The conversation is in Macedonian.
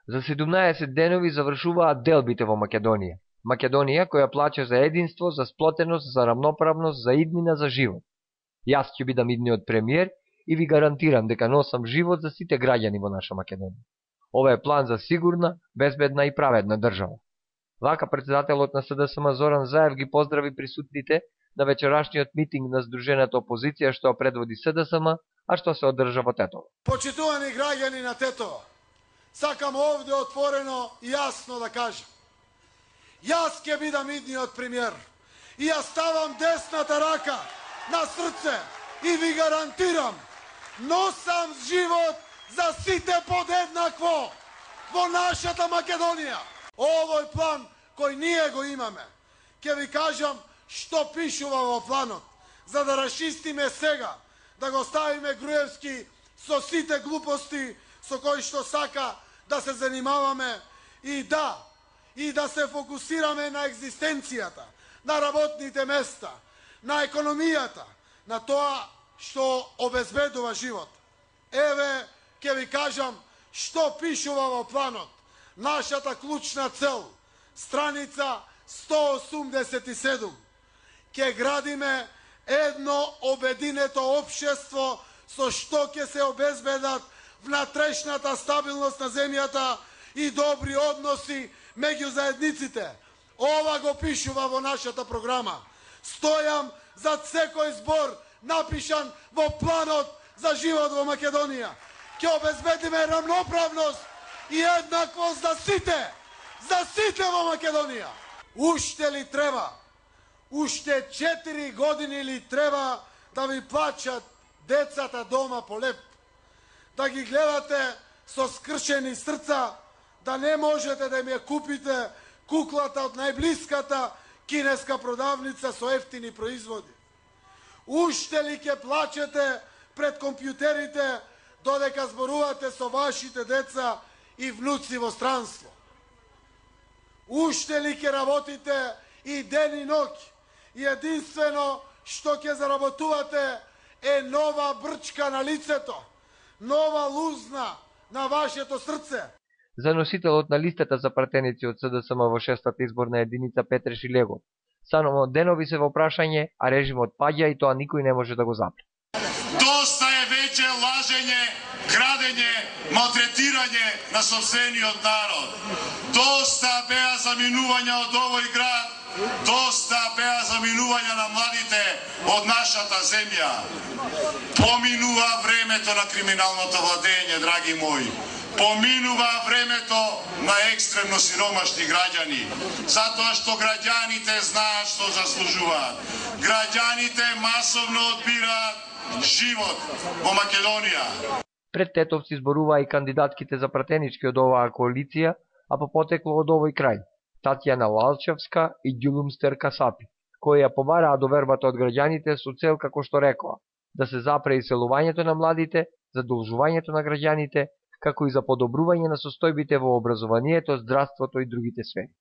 За 17 денови завршуваат делбите во Македонија. Македонија која плаче за единство, за сплотеност, за рамноправност, за иднина, за живот. Јас ќе бидам идниот премиер и ви гарантирам дека носам живот за сите граѓани во наша Македонија. Ова е план за сигурна, безбедна и праведна држава. Вака председателот на СДСМ Зоран Заев ги поздрави присутните на вечерашниот митинг на Сдружената опозиција што предводи СДСМ, а што се одржа во Тетово. Почитувани граѓани на Тетово, сакам овде отворено и јасно да кажам. Јас ќе бидам идниот премиер и јас ставам десната рака на срце и ви гарантирам, носам живот за сите подеднакво во нашата Македонија. Овој план кој ние го имаме, ќе ви кажам што пишува во планот, за да расчистиме сега, да го ставиме Груевски со сите глупости со кои што сака да се занимаваме и да се фокусираме на екзистенцијата, на работните места, на економијата, на тоа што обезбедува живот. Еве, ќе ви кажам што пишува во планот. Нашата клучна цел, страница 187. Ќе градиме едно обединето општество со што ќе се обезбедат внатрешната стабилност на земјата и добри односи меѓу заедниците. Ова го пишува во нашата програма. Стојам зад секој збор напишан во планот за живот во Македонија. Ќе обезбедиме рамноправност и еднаквост за сите во Македонија. Уште ли треба? Уште 4 години ли треба да ви плачат децата дома по леп? Да ги гледате со скршени срца, да не можете да им ја купите куклата од најблиската кинеска продавница со ефтини производи? Уште ли ќе плачете пред компјутерите додека зборувате со вашите деца и внуци во странство? Уште ли ќе работите и ден и ноќ? И единствено што ќе заработувате е нова брчка на лицето, нова лузна на вашето срце. За носителот на листата за пратеници од СДСМ во 6-та изборна единица Петре Шилегов, само денови се во прашање, а режимот паѓа и тоа никој не може да го запре. Доста е веќе лажење, крадење, малтретирање на сопствениот народ. Доста беа заминувања од овој град, доста беа заминувања на младите од нашата земја. Поминува времето на криминалното владење, драги мои. Поминува времето на екстремно сиромашни граѓани, затоа што граѓаните знаат што заслужуваат. Граѓаните масовно одбираат живот во Македонија. Пред тетовци зборуваа и кандидатките за пратенички од оваа коалиција, а по потекло од овој крај, Татјана Лалчевска и Ѓулумстер Касапи, кои ја побараа довербата од граѓаните со цел, како што рекоа, да се запре иселувањето на младите, задолжувањето на граѓаните, како и за подобрување на состојбите во образованието, здравството и другите сфери.